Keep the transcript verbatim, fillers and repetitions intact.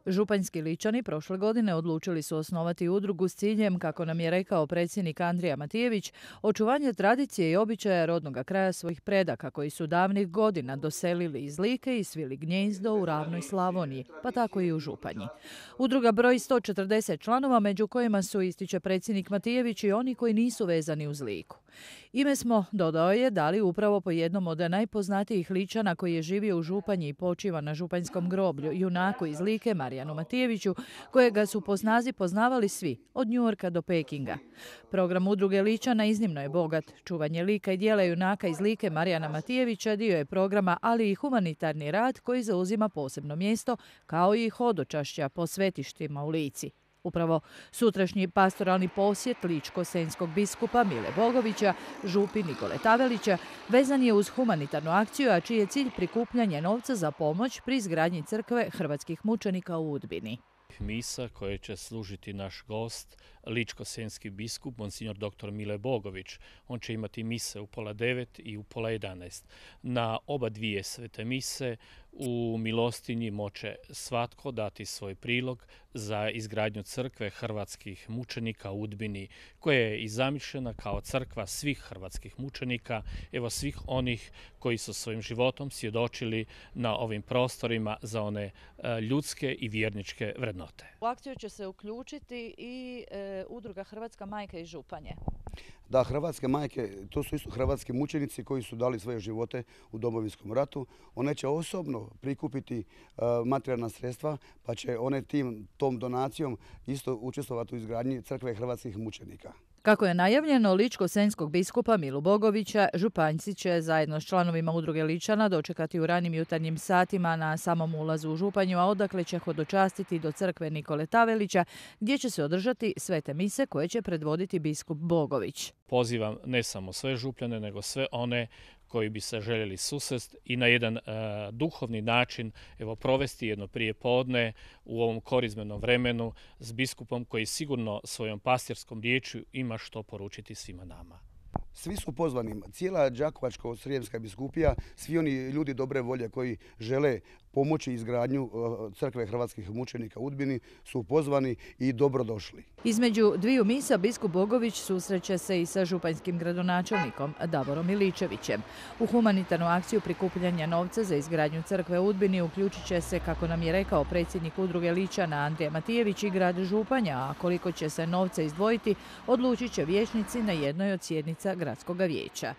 Županjski Ličani prošle godine odlučili su osnovati udrugu s ciljem, kako nam je rekao predsjednik Andrija Matijević, očuvanje tradicije i običaja rodnog kraja svojih predaka koji su davnih godina doselili iz Like i svili gnjezdo u ravnoj Slavoniji, pa tako i u Županji. Udruga broji sto četrdeset članova, među kojima su, ističe predsjednik Matijević, i oni koji nisu vezani uz Liku. Ime smo, dodao je, dali upravo po jednom od najpoznatijih Ličana koji je živio u Županji i počiva na županjskom groblju, junaku iz Like Marijanu Matijeviću, kojega su po snazi poznavali svi, od Njujorka do Pekinga. Program udruge Ličana iznimno je bogat. Čuvanje lika i djela junaka iz Like Marijana Matijevića dio je programa, ali i humanitarni rad koji zauzima posebno mjesto, kao i hodočašća po svetištima u Lici. Upravo sutrašnji pastoralni posjet ličko-senjskog biskupa Mile Bogovića, župi Nikole Tavelića, vezan je uz humanitarnu akciju, a čiji je cilj prikupljanje novca za pomoć pri izgradnji crkve hrvatskih mučenika u Udbini. Misa koje će služiti naš gost, ličko-senjski biskup, monsignor doktor Mile Bogović. On će imati mise u pola devet i u pola jedanaest. Na oba dvije svete mise u milostinji moće svatko dati svoj prilog za izgradnju crkve hrvatskih mučenika u Udbini, koja je i zamišljena kao crkva svih hrvatskih mučenika, evo svih onih koji su svojim životom svjedočili na ovim prostorima za one ljudske i vjerničke vrednote. U akciju će se uključiti i e, udruga Hrvatska majka iz Županje. Da, hrvatske majke, to su isto hrvatski mučenici koji su dali svoje živote u Domovinskom ratu. One će osobno prikupiti uh, materijalna sredstva, pa će one tim, tom donacijom isto učestvovati u izgradnji crkve hrvatskih mučenika. Kako je najavljeno, ličko-senjskog biskupa Milu Bogovića, županjci će zajedno s članovima udruge Ličana dočekati u ranim jutarnjim satima na samom ulazu u Županju, a odakle će hodočastiti do crkve Nikole Tavelića, gdje će se održati svete mise koje će predvoditi biskup Bogović. Pozivam ne samo sve Župljane, nego sve one koji bi se željeli susresti i na jedan uh, duhovni način evo, provesti jedno prijepodne u ovom korizmenom vremenu s biskupom koji sigurno svojom pastirskom riječju ima što poručiti svima nama. Svi su pozvani, cijela Đakovačko-srijemska biskupija, svi oni ljudi dobre volje koji žele pomoći izgradnju crkve hrvatskih mučenika u Udbini su pozvani i dobrodošli. Između dviju misa biskup Bogović susreće se i sa županjskim gradonačelnikom Davorom Miličevićem. U humanitarnu akciju prikupljanja novca za izgradnju crkve u Udbini uključit će se, kako nam je rekao predsjednik udruge Ličana Andrija Matijević, i grad Županja, a koliko će se novca izdvojiti odlučit će vijećnici na jednoj od sjednica gradskog vijeća.